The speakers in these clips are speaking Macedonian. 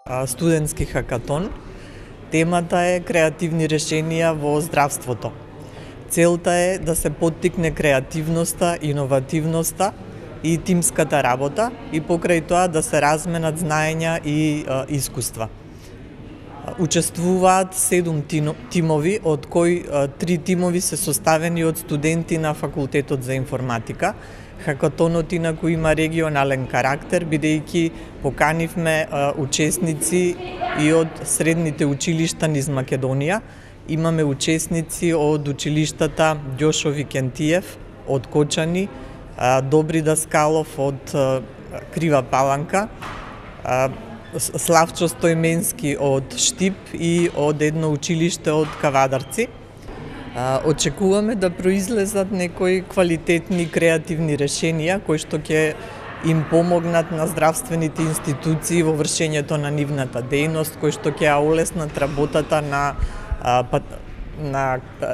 Студентски хакатон. Темата е креативни решенија во здравството. Целта е да се поттикне креативноста, иновативноста и тимската работа и покрај тоа да се разменат знаења и искуства. Учествуваат 7 тимови, од кои 3 тимови се составени од студенти на Факултетот за информатика. Хакатонот инаку има регионален карактер, бидејќи поканивме учесници и од средните училишта низ Македонија. Имаме учесници од училиштата Ѓошо Викентиев од Кочани, Добри Даскалов од Крива Паланка, Славчо Стојменски од Штип и од едно училиште од Кавадарци. Очекуваме да произлезат некои квалитетни креативни решенија кои што ќе им помогнат на здравствените институции во вршењето на нивната дејност, кои што ќе олеснат работата на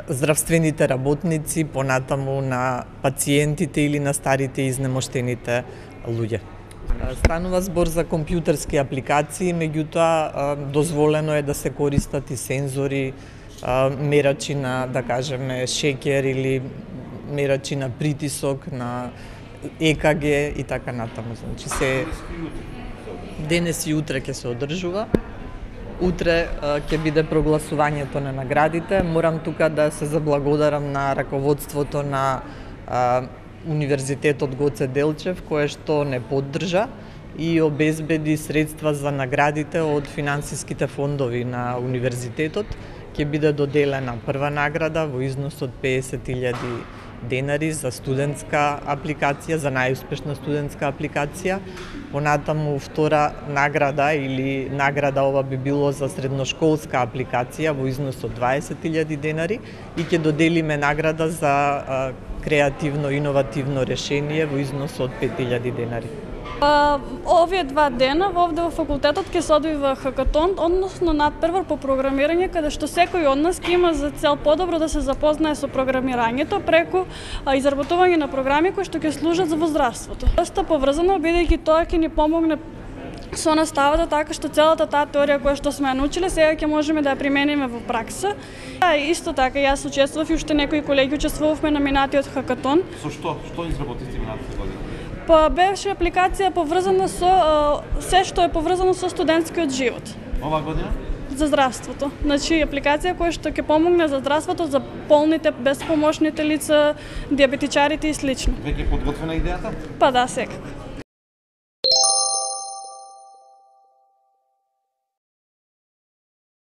здравствените работници, понатаму на пациентите или на старите изнемоштените луѓе. Станува збор за компјутерски апликации, меѓутоа дозволено е да се користат и сензори, мерачи на, да кажеме, шеќер или мерачи на притисок, на ЕКГ и така натаму. Значи се денес и утре ќе се одржува. Утре ќе биде прогласувањето на наградите. Морам тука да се заблагодарам на раководството на Универзитетот Гоце Делчев, кое што не поддржа и обезбеди средства за наградите од финансиските фондови на универзитетот. Ќе биде доделена прва награда во износ од 50.000 денари за студентска апликација, за најуспешна студентска апликација. Понатаму втора награда или награда ова би било за средношколска апликација во износ од 20.000 денари и ќе доделиме награда за креативно иновативно решение во износ од 5.000 денари. Овие 2 дена овде во факултетот ќе се одвива хакатон, односно надпревар по програмирање, каде што секој од нас ќе има за цел подобро да се запознае со програмирањето преку изработување на програми кои што ќе служат за во здравството. Доста поврзано, бидејќи тоа ќе ни помогне со наставата, така што целата таа теорија која што сме ја научиле, сега ќе можеме да ја примениме во пракса. Исто така, јас учествував и уште некои колеги учествувавме на минатиот хакатон. Со што? Што изработивте минатата година? Беше апликација поврзана со се што е поврзано со студентскиот живот. Ова година? За здравството. Значи, апликација која што ќе помогне за здравството, за полните, безпомошните лица, диабетичарите и слично. Веќе подготвена идејата? Па да, секако.